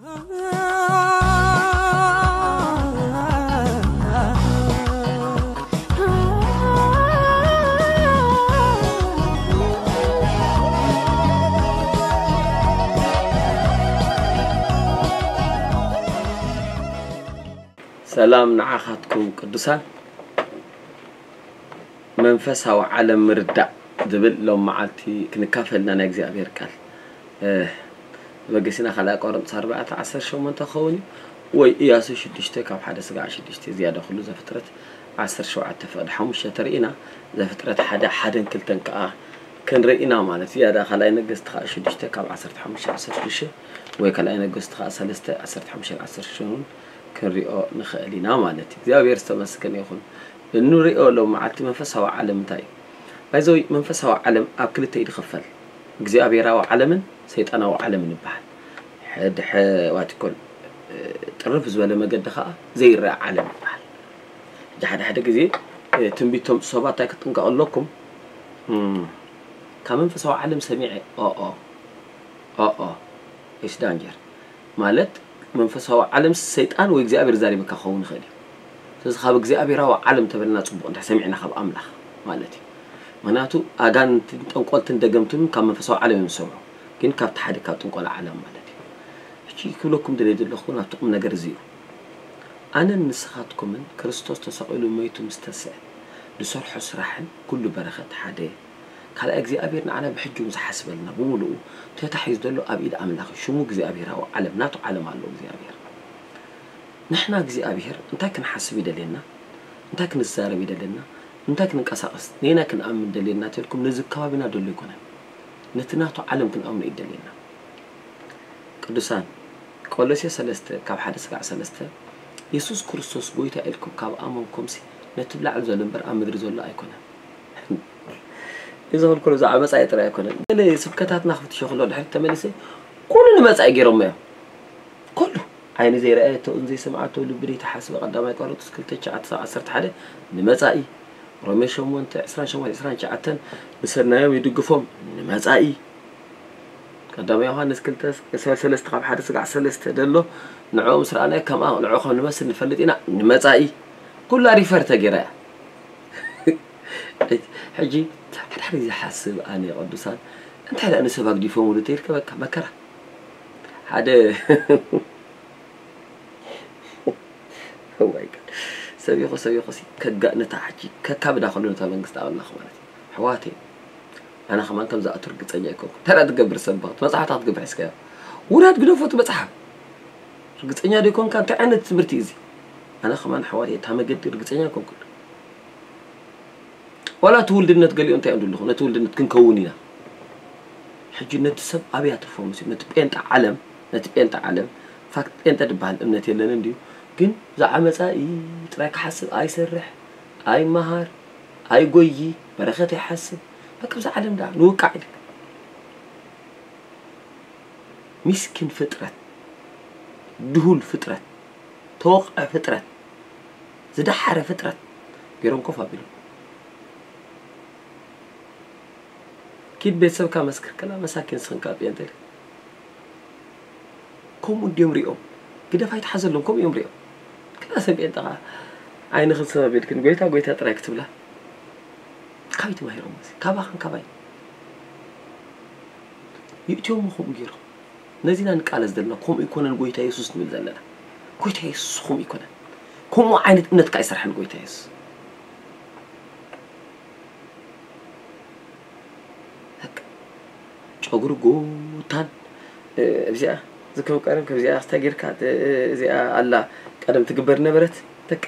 ሰላም ንዓኻትኩም ቅዱሳን። መንፈሳዊ ዓለም ምርዳእ ዝብል ሎም መዓልቲ ክንካፈልና ናይ እግዚኣብሔር ቃል በገሲና ካልኣይ ቆሮንቶስ ኣርባዕተ ዓሰርተ ሸሞንተ ክኸውን እዩ፣ ወይ ኢያሱ ሽዱሽተ ካብ ሓደ ስጋዕ ሽዱሽተ ዝያዳ ኩሉ ዘፍጥረት ዓሰርተ ሸውዓተ ፍቕዲ ሓሙሽተ ተርኢና፣ ዘፍጥረት ሓደ ሓደን ክልተን ከዓ ክንርኢ ኢና ማለት እዩ። ዝያዳ ካልኣይ ነገስቲ ከዓ ሽዱሽተ ካብ ዓሰርተ ሓሙሽተ ዓሰርተ ሽዱሽተ ወይ ካልኣይ ነገስቲ ከዓ ሰለስተ ዓሰርተ ሓሙሽተ ዓሰርተ ሽዱሽተ እውን ክንሪኦ ንኽእል ኢና ማለት እዩ። እግዚኣብሔር ዝተመስገነ ይኹን። እንሪኦ ሎም መዓልቲ መንፈሳዊ ዓለም እንታይ እዩ? ባይዘወይ መንፈሳዊ ዓለም ኣብ ክልተ እዩ ዝኽፈል። እግዚኣብሔራዊ ዓለምን ሰይጣናዊ ዓለምን ይበሃል። ሕድሐ ዋቲኮል ጥርፍ ዝበለ መገዲ ከዓ ዘይረአ ዓለም ይበሃል። ሕጂ ሓደ ሓደ ግዜ ትንቢቶም ሰባት እንታይ ክትጥንቀቕ ኣለኩም? ካብ መንፈሳዊ ዓለም ሰሚዐ ኦኦ ኦኦ ኢስ ዳንጀር ማለት መንፈሳዊ ዓለም ሰይጣን ወይ እግዚኣብሔር ዛሪበካ ክኸውን ይኽእል እዩ። ስለዚ ካብ እግዚኣብሔራዊ ዓለም ተበልና ፅቡቕ እንድሕር ሰሚዕና ካብ ኣምላኽ ማለት እዩ። ምክንያቱ ኣጋንንትን ጠንቆልትን ደገምትን ካብ መንፈሳዊ ዓለም እዮም ዝሰምዑ፣ ግን ካብቲ ሓደ ካብ ጥንቆላ ዓለም ማለት እዩ። ሕጂ ክብለኩም ደልየ ዘለኹ ናብቲ ቁም ነገር እዚ እዩ። ኣነን ንስኻትኩምን ክርስቶስ ተሰቒሉ መይቱ ምስ ተስዐ ዝሰርሖ ስራሕን ኩሉ በረኸት ሓደ ካልኣይ እግዚኣብሔር ንዓና ብሕጂ እውን ዝሓስበልና ብምሉኡ ተታሒዙ ዘሎ ኣብ ኢድ ኣምላኽ እዩ። ሽሙ እግዚኣብሔራዊ ዓለም ናቱ ዓለም ኣለዎ እግዚኣብሔር። ንሕና እግዚኣብሔር እንታይ ክንሓስብ ይደልየና፣ እንታይ ክንዛረብ ይደልየና፣ እንታይ ክንንቀሳቐስ ነየናይ ክንኣምን ደልየና ተልኩም ነዚ ከባቢና ደሎ ኣይኮነን። ነቲ ናቱ ዓለም ክንኣምኖ እዩ ደልየና። ቅዱሳን ቆሎሴ ሰለስተ ካብ ሓደ ስጋዕ ሰለስተ የሱስ ክርስቶስ ጎይታ ኢልኩም ካብ ኣመንኩምሲ ነቲ ብላዕሊ ዘሎ እምበር ኣብ ምድሪ ዘሎ ኣይኮነን። እዚ ክልኩል ብዛዕባ መጻኢ ጥራይ ኣይኮነን። ገለ ስብከታትና ክፍትሾ ከሎ ድሕሪት ተመሊሰ ኩሉ ንመጻኢ ገይሮሞ እዮም። ኩሉ ዓይኒ ዘይረኣየቶ እዝኒ ዘይሰምዓቶ ልቢ ዘይተሓስበ ቀዳማይ ቆሮንቶስ ክልተ ትሽዓተ ዓሰርተ ሓደ ንመጻኢ ሮሜ ሸሞንተ ዕስራን ሸሞንተ ዕስራን ትሽዓተን ንሰናዮም ይድግፎም ንመጻኢ ቀዳማይ ዮሃንስ ክልተ ሰለስተ ካብ ሓደ ስጋዕ ሰለስተ ደሎ ንዕኡ ምስ ረኣናዮ ከምኣ ንዕኡ ከም ንመስል ንፈልጥ ኢና ንመጻኢ ኩላ ሪፈር ተገይራ እያ። ሕጂ ሓደ ሓደ ግዜ ሓስብ ኣነ ቅዱሳን እንታይ ደኣ ንሰብ ኣግዲፎምሉ ተይልከ በቃ መከራ ሓደ እዋይ ጋድ ሰቢኹ ሰቢኹ ሲ ከጋእ ነታ ሕጂ ከካብዳ ከሎ ነታ መንግስቲ ኣምላኽ ማለት እዩ ኣሕዋተይ ኣነ ከማን ከም ዝኣቱ ርግፀኛ ኣይኮንኩ እንታይ ደኣ ትገብር ሰብ በኽት መፅሓፍታ ክትገብር ሒዝካዮ ውረድ ግደፎ እቲ መፅሓፍ ርግፀኛ ዶ ይኮንካ እንታይ ዓይነት ትምህርቲ እዩ እዚ ኣነ ከማን ኣሕዋተይ እታ መገዲ ርግፀኛ ኣይኮንኩን ዋላ እቲ ውልድነት ገሊኡ እንታይ እዮም ዝብልኹ ነቲ ውልድነት ክንከውን ኢና ሕጂ ነቲ ሰብ ኣበይ ኣትርፎ መሲሉ ነቲ ጴንጠ ዓለም ነቲ ጴንጠ ዓለም ፋክት ጴንጠ ዝበሃል እምነት የለንን ድዩ ግን ብዛዕባ መፃኢ ጥራይ ክሓስብ ኣይሰርሕ ኣይመሃር ኣይጎዪ በረኸት ኣይሓስብ በቃ ብዛ ዓለም ደኣ ንውቃዕ ኢሉ ሚስኪን ፍጥረት ድሁል ፍጥረት ተወቕዐ ፍጥረት ዝደሓረ ፍጥረት ገይሮም ኮፍ ኣቢሎም ኪድ ቤተሰብካ መስክር ከላ መሳኪን ስኽንካ ጴንጠ ከምኡ እንዲዮም ሪኦም ግደፍ ኣይትሓዘሎም ከምኡ እዮም ሪኦም ከላ ሰብ ጴንጠ ከዓ ዓይንኽን ሰብ ኣቢልክን ጎይታ ጎይታ ጥራይ ክትብላ ካበይ ተማሂሮም እዚ ካባኽን ካባይ ይእትዮም ከምኡ ገይሮም ነዚና ንቃለስ ዘለና ከምኡ ይኮነን ጎይታ የሱስ ንብል ዘለና ጎይታ የሱስ ከምኡ ይኮነን ከምኡ ዓይነት እምነት ከዓ ይሰርሐን ጎይታ የሱስ ጨጉሪ ጎታን እዚኣ ዝከብ ቀደም ከምዚኣ ክስታ ጌርካ እዚኣ ኣላ ቀደም ትግበር ነበረት በቃ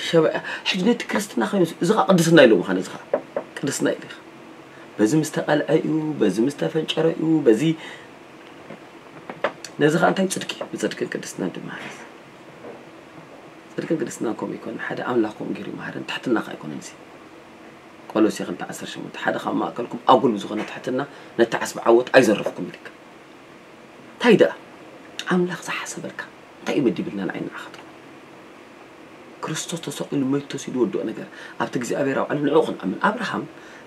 ሸበ ሕጂ ነቲ ክርስትና ኮይኑ እዚ ከዓ ቅድስና ኢሎ ምዃነ እዚ ከዓ ቅድስና ኢሉ በዚ ምስ ተቐልዐ እዩ በዚ ምስ ተፈንጨረ እዩ በዚ ነዚ ከዓ እንታይ እዩ ጽድቂ ብጽድቅን ቅድስናን ድማ ጽድቅን ቅድስናን ከምኡ ይኮን ሓደ ኣምላኽ ከምኡ ገይሩ ይመሃረን ትሕትና ከዓ ኣይኮነን እዚ ቆሎሴ ክልተ ዓሰርተ ሸሞንተ ሓደ ካብ ማእከልኩም ኣጉል ብዝኾነ ትሕትና ነቲ ዓስቢ ዓወት ኣይዘረፍኩም ኢልካ እንታይ ደኣ ኣምላኽ ዝሓሰበልካ እንታይ እዩ መዲብልና ንዓይ ንዓኻትኩም ክርስቶስ ተሰቒሉ መይቱ ተሲዱ ወድኦ ነገር ኣብቲ እግዚኣብሔር ኣብ ዓለም ንዕኡ ክንኣምን ኣብርሃም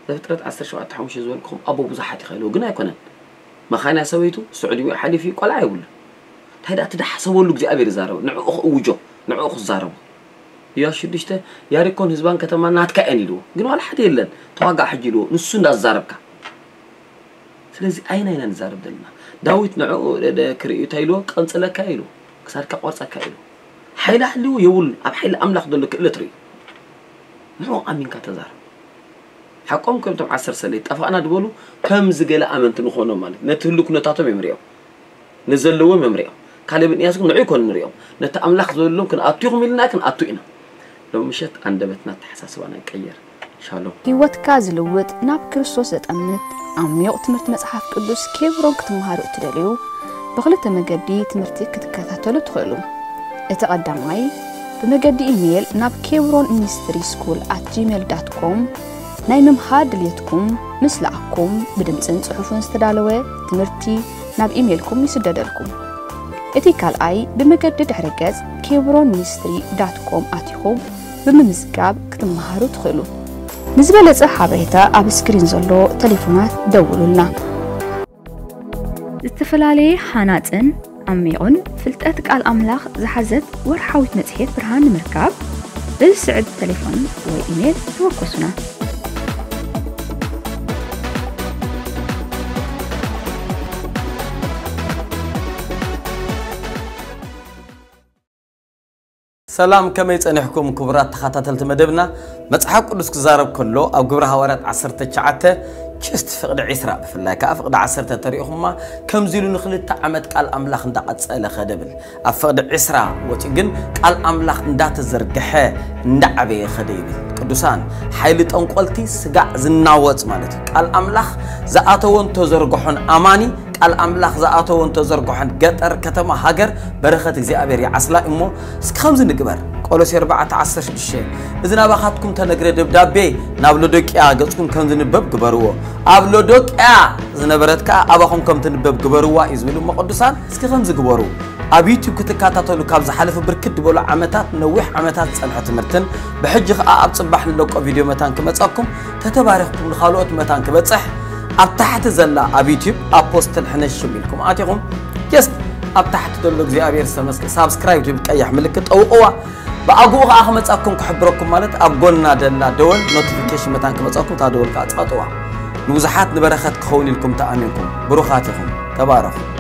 ዘፍጥረት ዓሰርተ ሸውዓተ ሓሙሽተ ዝበልኩም ኣቦ ብዙሓት ይኽእልዎ ግን ኣይኮነን መኻንያ ሰበይቱ ስዑዲ ወይ ሓሊፉ ቆልዓ የብሉ እንታይ ደኣ እቲ ዝሓሰበሉ እግዚኣብሔር ይዛረቦ፣ ንዕኡ ክእውጆ፣ ንዕኡ ክዛረቦ። ኢያሱ ሽዱሽተ፣ ያሪኮን ህዝባን ከተማን ናትካ እየን ኢልዎ። ግን ዋላ ሓደ የለን፣ ተዋጋእ ሕጂ ኢልዎ፣ ንሱ እንዳዛረብካ። ስለዚ ኣይና ኢና ንዛረብ ዘለና። ዳዊት ንዕኡ ደ-፣ ደ-፣ ክርእዩ እንታይ ኢልዎ? ቀንጽለካ ኢልዎ፣ ክሳድካ ቆርጸካ ኢልዎ። ሓይሊ ሃልይዎ የብሉን፣ ኣብ ሓይሊ ኣምላኽ ዘሎ ክእለት ርእዩ። ንዕኡ ኣሚንካ ተዛረብ። ሓቆም ከም እቶም ዓሰርተ ሰለስተ ጠፋእና ዝበሉ ከምዚ ገለ ኣመንቲ ንኾኖም ማለት እዩ። ነቲ ህሉ ኩነታቶም እዮም ሪኦም። ንዘለዎም እዮም ሪኦም። ካሌብን ኢያሱ ግን ንዑ ይኮኑ ንሪኦም። ነቲ ኣምላኽ ዝበሎም ክንኣቱ ኢኹም ኢልና ክንኣቱ ኢና። ሎም ምሸት ኣንደበትና ኣተሓሳስባና ይቀየር። ሻሎም። ህይወትካ ዝልውጥ ናብ ክርስቶስ ዘጠምት ዓሚቕ ትምህርቲ መጽሓፍ ቅዱስ ኬብሮን ክትመሃሩ እትደልዩ ብኽልተ መገዲ ትምህርቲ ክትከታተሉ ትኽእሉ። እቲ ቀዳማይ ብመገዲ ኢሜይል ናብ ኬብሮን ሚኒስትሪ ስኩል ኣት ጂሜል ዳት ኮም ናይ ምምሃር ድልየትኩም ምስ ለኣኩም ብድምፅን ፅሑፍን ዝተዳለወ ትምህርቲ ናብ ኢሜይልኩም ይስደደልኩም። እቲ ካልኣይ ብመገዲ ድሕረ ገጽ ኬብሮን ሚኒስትሪ ዳት ኮም ኣቲኹም ብምምዝጋብ ክትመሃሩ ትኽእሉ። ንዝበለጸ ሓበሬታ ኣብ ስክሪን ዘሎ ቴሌፎናት ደውሉልና። ዝተፈላለየ ሃናጽን ዓሚቑን ፍልጠት ቃል ኣምላኽ ዝሓዘት ወርሓዊት መጽሔት ብርሃን ንምርካብ በዚ ስዕብ ቴሌፎን ወይ ኢሜይል ተወከሱና። ሰላም፣ ከመይ ጸኒሕኩም ክቡራት ተኸታተልቲ መደብና? መጽሓፍ ቅዱስ ክዛረብ ከሎ ኣብ ግብረ ሃዋርያት ዓሰርተ ትሽዓተ ችስት ፍቕዲ ዒስራ ብፍላይ ከኣ ፍቕዲ ዓሰርተ ተሪእኹማ ከምዚ ኢሉ ንኽልተ ዓመት ቃል ኣምላኽ እንዳቐጸለ ኸደ ብል። ኣብ ፍቕዲ ዒስራ ወጺኡ ግን ቃል ኣምላኽ እንዳተዘርግሐ እንዳዓበየ ኸደ ይብል። ቅዱሳን፣ ሓይሊ ጠንቆልቲ ስጋዕ ዝናወጽ ማለት እዩ። ቃል ኣምላኽ ዝኣተወን ተዘርግሖን ኣማኒ ቃል ኣምላኽ ዝኣተወን ተዘርግሖን ገጠር፣ ከተማ፣ ሃገር በረኸት እግዚኣብሔር ይዓስላ እሞ እስኪ ከምዚ ንግበር። ቆሎሴ ኣርባዕተ ዓሰርተ ሽዱሽተ እዚ ናባኻትኩም ተነግረ ደብዳቤ ናብ ሎዶቅያ ገጽኩም ከም ዝንበብ ግበርዎ። ኣብ ሎዶቅያ ዝነበረት ከኣ ኣባኹም ከም ትንበብ ግበርዋ እዩ ዝብል እሞ ቅዱሳን እስኪ ከምዚ ግበሩ። ኣብ ዩቲዩብ ክትከታተሉ ካብ ዝሓለፈ ብርክት ዝበሉ ዓመታት ነዊሕ ዓመታት ዝጸንሐ ትምህርትን ብሕጂ ከኣ ኣብ ጽባሕ ንለቆ ቪድዮ መታን ክመጸኩም ተተባሪኽኩም ንኻልኦት መታን ክበጽሕ ኣብ ታሕቲ ዘላ ኣብ ዩቲዩብ ኣፖስትል ሕነሽም ኢልኩም ኣቲኹም ጀስት ኣብ ታሕቲ ዘሎ እግዚኣብሔር ዝተመስገ ሳብስክራይብ ትብል ቀያሕ ምልክት ጠውቕዋ። ብኣግኡ ከኣ ክመጻኩም ክሕብረኩም ማለት ኣብ ጎና ደላ ደወል ኖቲፊኬሽን መታን ክመጻኩም እታ ደወል ከኣ ጸቕጥዋ። ንብዙሓት ንበረኸት ክኸውን ኢልኩም ተኣሚንኩም ብሩኻት ኢኹም። ተባረኹ።